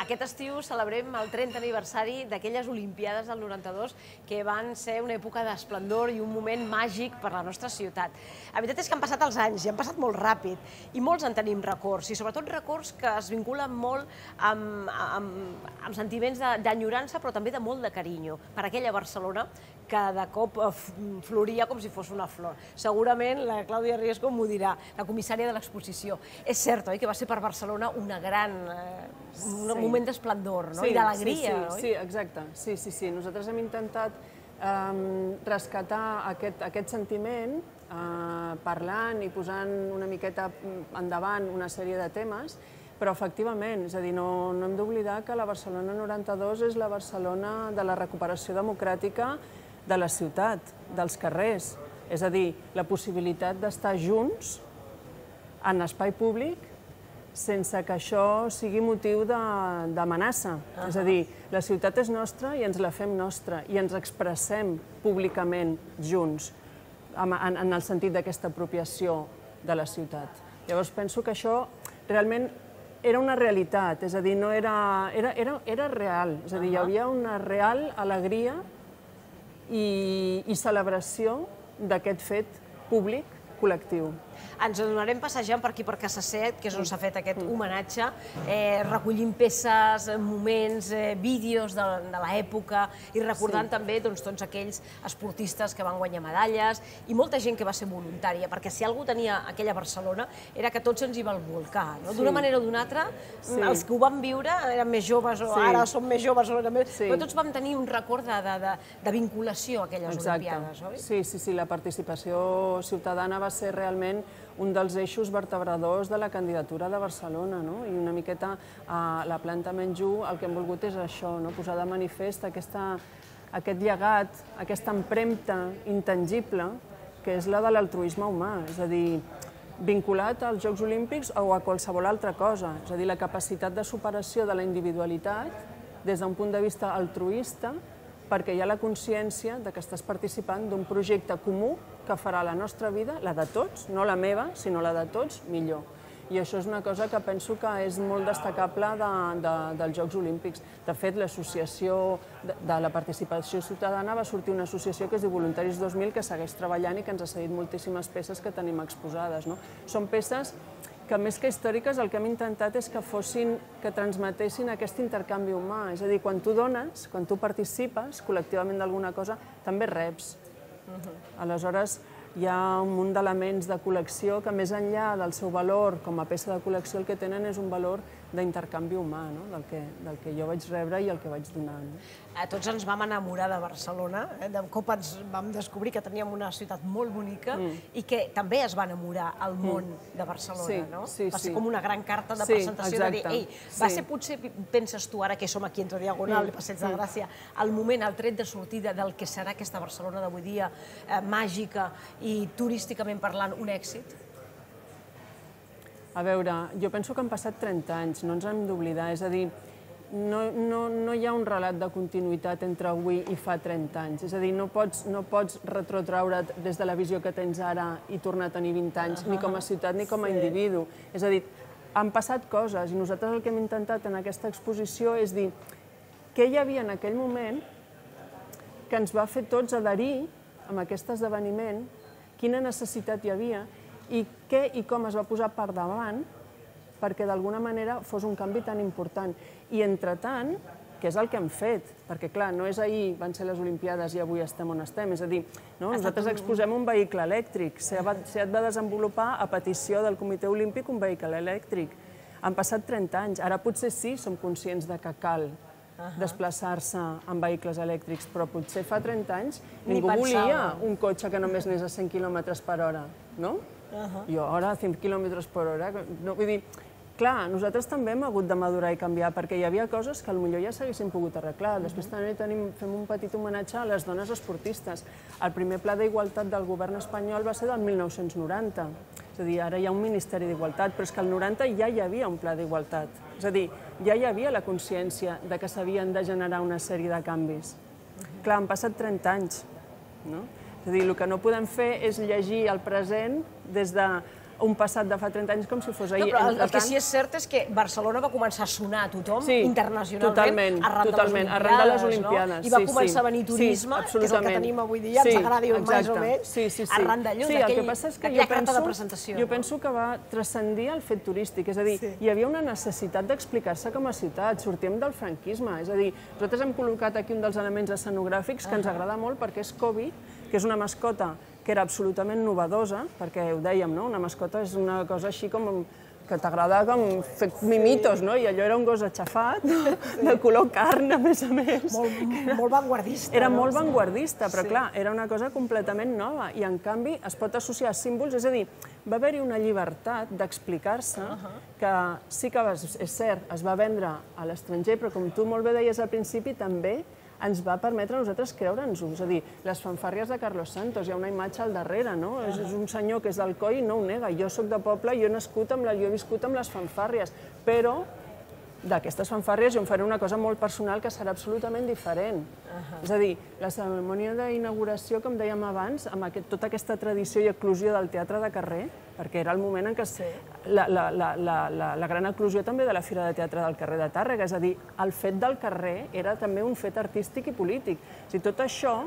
Aquest estiu celebrem el 30 aniversari d'aquelles Olimpiades del 92 que van ser una època d'esplendor i un moment màgic per la nostra ciutat. La veritat és que han passat els anys i han passat molt ràpid i molts en tenim records i sobretot records que es vinculen molt amb sentiments d'enyorança però també de molt de carinyo per aquella Barcelona que de cop floria com si fos una flor. Segurament la Clàudia Riesco m'ho dirà, la comissària de l'exposició. És cert, oi, que va ser per Barcelona un moment d'esplendor i d'alegria, oi? Sí, exacte. Sí. Nosaltres hem intentat rescatar aquest sentiment parlant i posant una miqueta endavant una sèrie de temes, però efectivament, és a dir, no hem d'oblidar que la Barcelona 92 és la Barcelona de la recuperació democràtica de la ciutat, dels carrers. És a dir, la possibilitat d'estar junts en espai públic sense que això sigui motiu d'amenaça. És a dir, la ciutat és nostra i ens la fem nostra i ens expressem públicament junts en el sentit d'aquesta apropiació de la ciutat. Llavors penso que això realment era una realitat, és a dir, era real, és a dir, hi havia una real alegria i celebració d'aquest fet públic col·lectiu. Ens adonarem passejant per aquí, per Casa Set, que és on s'ha fet aquest homenatge, recollint peces, moments, vídeos de l'època i recordant també tots aquells esportistes que van guanyar medalles i molta gent que va ser voluntària, perquè si algú tenia aquella Barcelona era que tots ens hi vam volcar. D'una manera o d'una altra, els que ho van viure eren més joves o ara som més joves, però tots vam tenir un record de vinculació a aquelles Olimpiades, oi? Sí, la participació ciutadana va ser realment un dels eixos vertebradors de la candidatura de Barcelona, i una miqueta a la planta Menjú el que hem volgut és això, posar de manifest aquest llegat, aquesta empremta intangible que és la de l'altruisme humà, és a dir, vinculat als Jocs Olímpics o a qualsevol altra cosa, és a dir, la capacitat de superació de la individualitat des d'un punt de vista altruista perquè hi ha la consciència que estàs participant d'un projecte comú que farà la nostra vida, la de tots, no la meva, sinó la de tots, millor. I això és una cosa que penso que és molt destacable dels Jocs Olímpics. De fet, l'associació de la participació ciutadana va sortir una associació que es diu Voluntaris 2000, que segueix treballant i que ens ha cedit moltíssimes peces que tenim exposades. Són peces que més que històriques el que hem intentat és que transmetessin aquest intercanvi humà. És a dir, quan tu dones, quan tu participes col·lectivament d'alguna cosa, també reps. Aleshores, hi ha un munt d'elements de col·lecció que més enllà del seu valor com a peça de col·lecció el que tenen és un valor d'intercanvi humà, del que jo vaig rebre i el que vaig donar. Tots ens vam enamorar de Barcelona, de cop ens vam descobrir que teníem una ciutat molt bonica i que també es va enamorar el món de Barcelona. Va ser com una gran carta de presentació de dir, ei, va ser potser, penses tu ara que som aquí entre Diagonal i Passeig de Gràcia, el moment, el tret de sortida del que serà aquesta Barcelona d'avui dia, màgica i turísticament parlant, un èxit? A veure, jo penso que han passat 30 anys, no ens hem d'oblidar, és a dir, no hi ha un relat de continuïtat entre avui i fa 30 anys, és a dir, no pots retrotraure't des de la visió que tens ara i tornar a tenir 20 anys, ni com a ciutat ni com a individu. És a dir, han passat coses i nosaltres el que hem intentat en aquesta exposició és dir què hi havia en aquell moment que ens va fer tots adherir a aquest esdeveniment, quina necessitat hi havia i què i com es va posar per davant perquè d'alguna manera fos un canvi tan important. I entretant, que és el que hem fet, perquè clar, no és ahir van ser les Olimpiades i avui estem on estem, és a dir, nosaltres exposem un vehicle elèctric, SEAT va desenvolupar a petició del Comitè Olímpic un vehicle elèctric. Han passat 30 anys, ara potser sí som conscients que cal desplaçar-se en vehicles elèctrics, però potser fa 30 anys ningú volia un cotxe que només anés a 100 km per hora, no? I ara a 100 km per hora, vull dir, clar, nosaltres també hem hagut de madurar i canviar, perquè hi havia coses que potser ja s'haguessin pogut arreglar. Després també fem un petit homenatge a les dones esportistes. El primer pla d'igualtat del govern espanyol va ser del 1990. És a dir, ara hi ha un Ministeri d'Igualtat, però és que al 90 ja hi havia un pla d'igualtat. És a dir, ja hi havia la consciència que s'havien de generar una sèrie de canvis. Clar, han passat 30 anys, no? És a dir, el que no podem fer és llegir el present des de un passat de fa 30 anys com si fos ahir. Però el que sí és cert és que Barcelona va començar a sonar a tothom internacionalment arran de les Olimpiades. I va començar a venir turisme, que és el que tenim avui dia, ens agradi més o menys, arran d'allò, d'aquella carta de presentació. Jo penso que va transcendir el fet turístic, és a dir, hi havia una necessitat d'explicar-se com a ciutat, sortíem del franquisme, és a dir, nosaltres hem col·locat aquí un dels elements escenogràfics que ens agrada molt perquè és Kobe, que és una mascota que era absolutament novedosa, perquè ho dèiem, una mascota és una cosa així com que t'agrada com fer mimitos, i allò era un gos aixafat, de color carn, a més. Molt vanguardista. Era molt vanguardista, però clar, era una cosa completament nova i en canvi es pot associar a símbols, és a dir, va haver-hi una llibertat d'explicar-se que sí que, és cert, es va vendre a l'estranger, però com tu molt bé deies al principi, també ens va permetre a nosaltres creure'ns-ho. És a dir, les fanfàrries de Carlos Santos, hi ha una imatge al darrere, no? És un senyor que és d'Alcoi i no ho nega. Jo soc de poble, jo he viscut amb les fanfàrries, però d'aquestes fanfàrries jo em faré una cosa molt personal que serà absolutament diferent. És a dir, la cerimònia d'inauguració, com dèiem abans, amb tota aquesta tradició i eclosió del teatre de carrer, perquè era el moment en què la gran eclosió també de la Fira de Teatre del carrer de Tàrrega, és a dir, el fet del carrer era també un fet artístic i polític. És a dir, tot això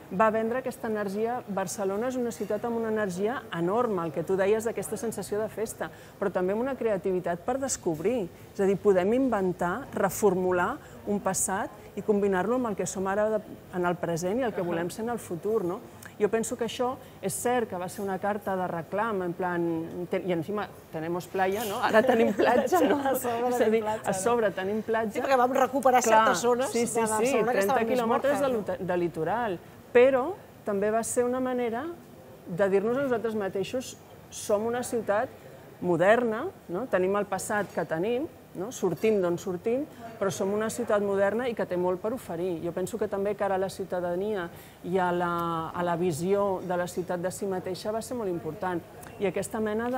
va vendre aquesta energia. Barcelona és una ciutat amb una energia enorme, el que tu deies d'aquesta sensació de festa, però també amb una creativitat per descobrir. És a dir, podem inventar, reformular un passat i combinar-lo amb el que som ara en el present i el que volem ser en el futur. Jo penso que això és cert que va ser una carta de reclam, en plan, i encima tenemos playa, ara tenim platja, és a dir, a sobre tenim platja. Sí, perquè vam recuperar certes zones de Barcelona que estaven més mortes. 30 quilòmetres de litoral. Però també va ser una manera de dir-nos a nosaltres mateixos som una ciutat moderna, tenim el passat que tenim, sortim d'on sortim, però som una ciutat moderna i que té molt per oferir. Jo penso que també cara a la ciutadania i a la visió de la ciutat de si mateixa va ser molt important. I aquesta mena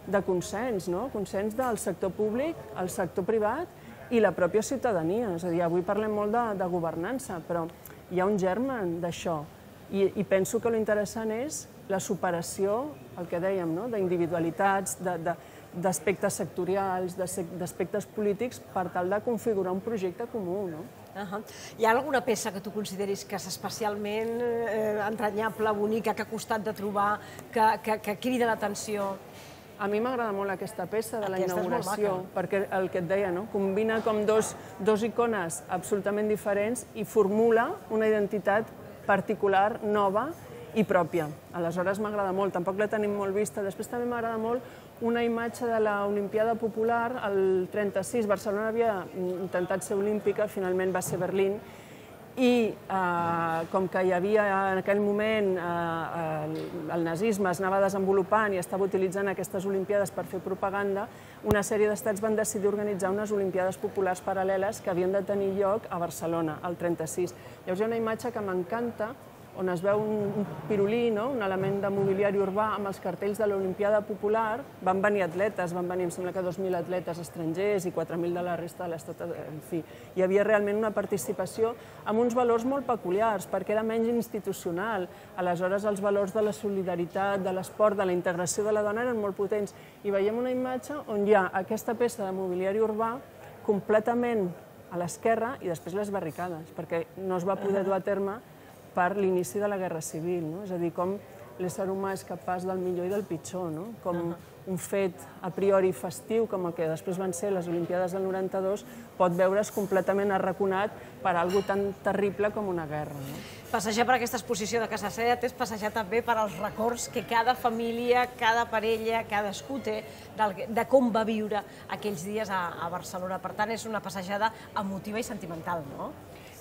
de consens, consens del sector públic, el sector privat i la pròpia ciutadania. És a dir, avui parlem molt de governança, però hi ha un germen d'això i penso que l'interessant és la superació, el que dèiem, d'individualitats, d'aspectes sectorials, d'aspectes polítics per tal de configurar un projecte comú. Hi ha alguna peça que tu consideris que és especialment entranyable, bonica, que ha costat de trobar, que crida l'atenció? A mi m'agrada molt aquesta peça de la inauguració, perquè el que et deia, combina com dos icones absolutament diferents i formula una identitat particular, nova i pròpia. Aleshores m'agrada molt, tampoc la tenim molt vista. Després també m'agrada molt una imatge de l'Olimpiada Popular, el 36, Barcelona havia intentat ser olímpica, finalment va ser Berlín, i com que hi havia en aquell moment el nazisme es anava desenvolupant i estava utilitzant aquestes Olimpiades per fer propaganda, una sèrie d'estats van decidir organitzar unes Olimpiades populars paral·leles que havien de tenir lloc a Barcelona, el 36. Llavors hi ha una imatge que m'encanta on es veu un pirulí, un element de mobiliari urbà amb els cartells de l'Olimpiada Popular. Van venir atletes, van venir, em sembla que 2.000 atletes estrangers i 4.000 de la resta de l'estat. En fi, hi havia realment una participació amb uns valors molt peculiars, perquè era menys institucional. Aleshores, els valors de la solidaritat, de l'esport, de la integració de la dona eren molt potents. I veiem una imatge on hi ha aquesta peça de mobiliari urbà completament a l'esquerra i després les barricades, perquè no es va poder dur a terme per l'inici de la Guerra Civil. És a dir, com l'ésser humà és capaç del millor i del pitjor, com un fet a priori festiu, com el que després van ser les Olimpiades del 92, pot veure's completament arraconat per alguna tan terrible com una guerra. Passejar per aquesta exposició de Casa Set és passejar també per als records que cada família, cada parella, cadascú té de com va viure aquells dies a Barcelona. Per tant, és una passejada emotiva i sentimental, no?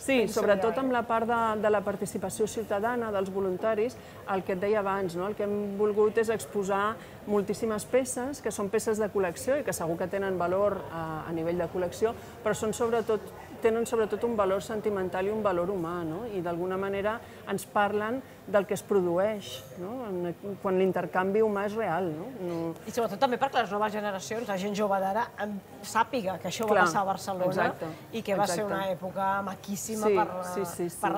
Sí, sobretot amb la part de la participació ciutadana, dels voluntaris, el que et deia abans, el que hem volgut és exposar moltíssimes peces, que són peces de col·lecció i que segur que tenen valor a nivell de col·lecció, però són sobretot tenen sobretot un valor sentimental i un valor humà, no? I d'alguna manera ens parlen del que es produeix, no? Quan l'intercanvi humà és real. No? I sobretot també perquè les noves generacions, la gent jove d'ara, sàpiga que això va passar a Barcelona i que va ser una època maquíssima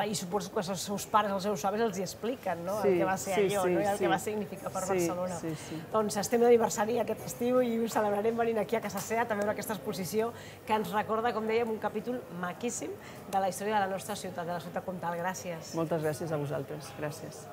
i suposo que els seus pares, els seus avis els hi expliquen el que va ser allò i el que va significar per Barcelona. Doncs estem d'aniversari aquest estiu i ho celebrarem venint aquí a Casa Seat a veure aquesta exposició que ens recorda, com dèiem, un capítol maquíssim de la història de la nostra ciutat, de la ciutat comtal. Gràcies. Moltes gràcies a vosaltres. Gràcies.